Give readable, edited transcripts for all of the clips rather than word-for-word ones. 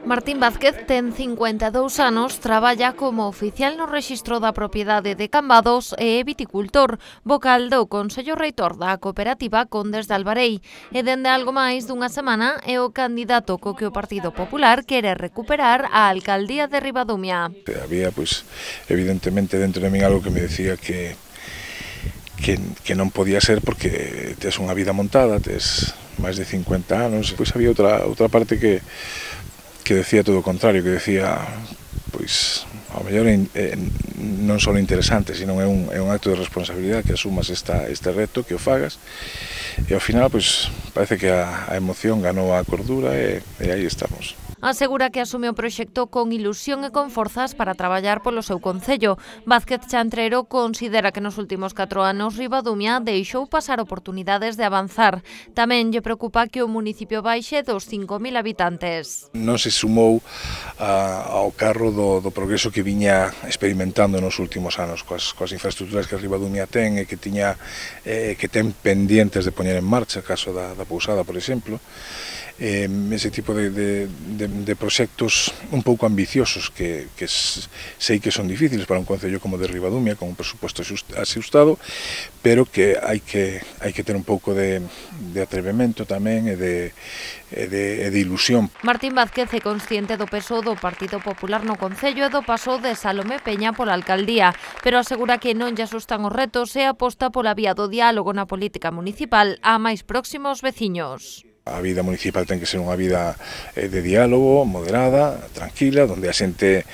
Martín Vázquez ten 52 anos, traballa como oficial no rexistro da propiedade de Cambados e é viticultor, vocal do Consello Reitor da cooperativa Condes de Albarei, e dende algo máis dunha semana é o candidato co que o Partido Popular quere recuperar a alcaldía de Ribadumia. Había, evidentemente, dentro de min algo que me decía que non podía ser porque tes unha vida montada, tes máis de 50 anos, pois había outra parte que decía todo o contrario, que decía, pois, ao mellor non só interesante, sino é un acto de responsabilidade que asumas este reto, que o fagas, e ao final, pois, parece que a emoción ganou a cordura e aí estamos. Asegura que asume o proxecto con ilusión e con forzas para traballar polo seu concello. Vázquez Chantrero considera que nos últimos 4 anos Ribadumia deixou pasar oportunidades de avanzar. Tamén lle preocupa que o municipio baixe dos 5.000 habitantes. Non se sumou ao carro do progreso que viña experimentando nos últimos anos coas infraestructuras que Ribadumia ten e que ten pendientes de poñer en marcha, caso da Pousada, por exemplo. Ese tipo de proxectos un pouco ambiciosos que sei que son difíciles para un concello como de Ribadumia, con un presupuesto axustado, pero que hai que ter un pouco de atrevemento tamén e de ilusión. Martín Vázquez é consciente do peso do Partido Popular no concello e do paso de Salomé Peña pola alcaldía, pero asegura que non lle asustan os retos e aposta pola vía do diálogo na política municipal a máis próximos veciños. A vida municipal ten que ser unha vida de diálogo, moderada, tranquila, onde a xente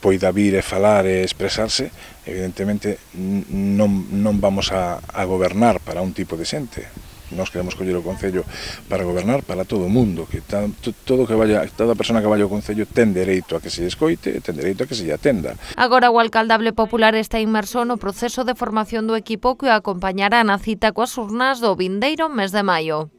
poida vir e falar e expresarse. Evidentemente non vamos a gobernar para un tipo de xente. Nós queremos coller o concello para gobernar para todo o mundo, que toda persona que vaya ao concello ten dereito a que se escoite e ten dereito a que se lle atenda. Agora o alcaldable popular está inmerso no proceso de formación do equipo que o acompañará na cita coas urnas do vindeiro mes de maio.